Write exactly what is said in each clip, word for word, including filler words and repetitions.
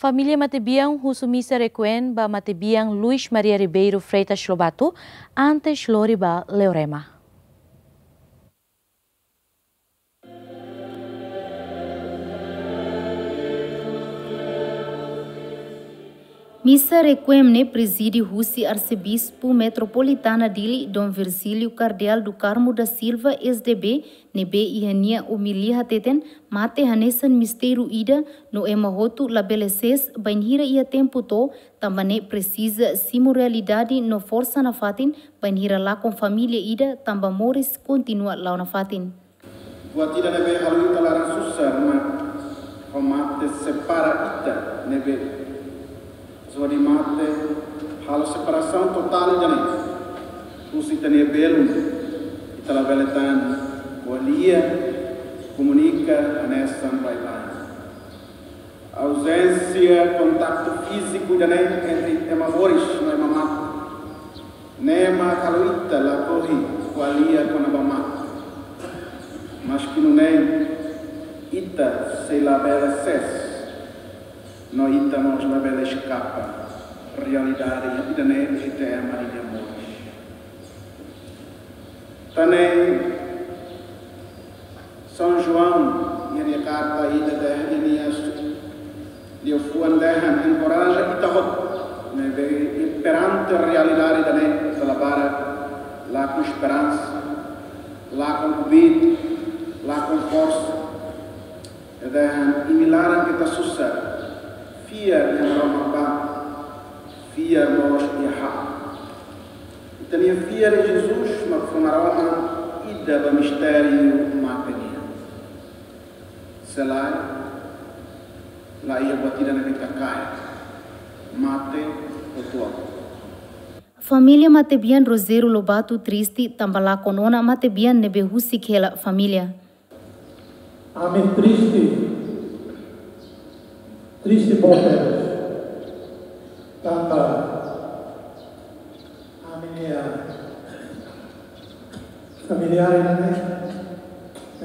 Família matebian husu misa requiem ba matebian Luis Maria Ribeiro Freitas Lobato antes lori ba Leorema. Misa requiem ne'e prezide husi Arsebispu Metropolitana Dili, Dom Virgílio Cardeal do Carmo da Silva, S D B, ne'ebé iha nia omilia hateten, mate hanesan mistériu ida, no ema hotu labele sees bainhira iha tempu to'o, tanba ne'e presiza simu realidade no forsa nafatin, bainhira lakon família ida, tanba moris kontinua la'o nafatin. Buat ida ne'ebé halo ita laran susar mak ho mate separa ita ne'ebé. Só de mate halo separasaun totál ida-ne'e. Husi ita-nia belun, ita labele tan ko'alia, komunika hanesan baibain. Auzénsia kontaktu fíziku ida-ne'e entre ema moris no ema mate, ne'e mak halo ita lakohi ko'alia kona-ba mate. Maski nune'e, ita sei labele sees, no ita mós labele eskapa realidade ida-ne'e iha ita ema nia moris. Tan ne'e, São João, iha nia karta ida dehan, iha nia liafuan dehan, enkoraja ita hotu ne'ebé perante realidade ida-ne'e, ita la barak, lakon esperansa, lakon kbiit, lakon forsa. Nia dehan, imi laran ke ita susar, fiar iha Maromak ba, fiar mós iha ha'u. Ita-nia fiar iha Jesus mak fó Maromak ida ba mistériu mate nian. Se lae, la iha buat ida ne'ebé ita kaer. Mate hotu-hotu. Família matebian Rogério Lobato triste tanba lakon ona matebian ne'ebé husik hela família. Ami triste, triste boot tebes. Tanba ami-nia familiár ne'e,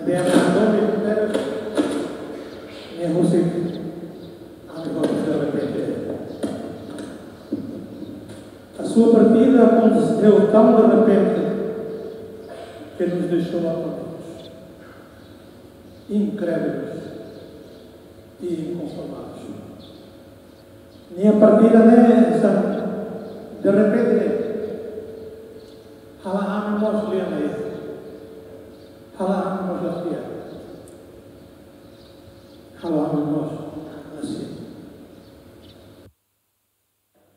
ne'e ami domin tebes, ne'e husik ami hotu derrepente. A sua partida aconteceu tão de repente que nos deixou atónitos, incrédulos e inconformados. Nia partida ne'e hanesan derrepente, halo ami mós lian lai, halo ami mós la fiar, halo ami mós la sente.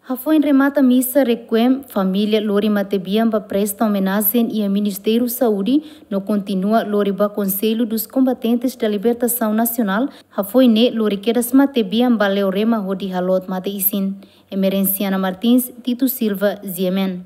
Hafoin remata misa requiem, família lori matebian ba presta omenajen iha Ministériu Saúde, no kontinua lori ba Conselho dos Combatentes da Libertação Nacional, hafoin ne'e lori kedas matebian ba Leorema hodi halot mate-isin. Emerenciana Martins, Tito Silva, G M N.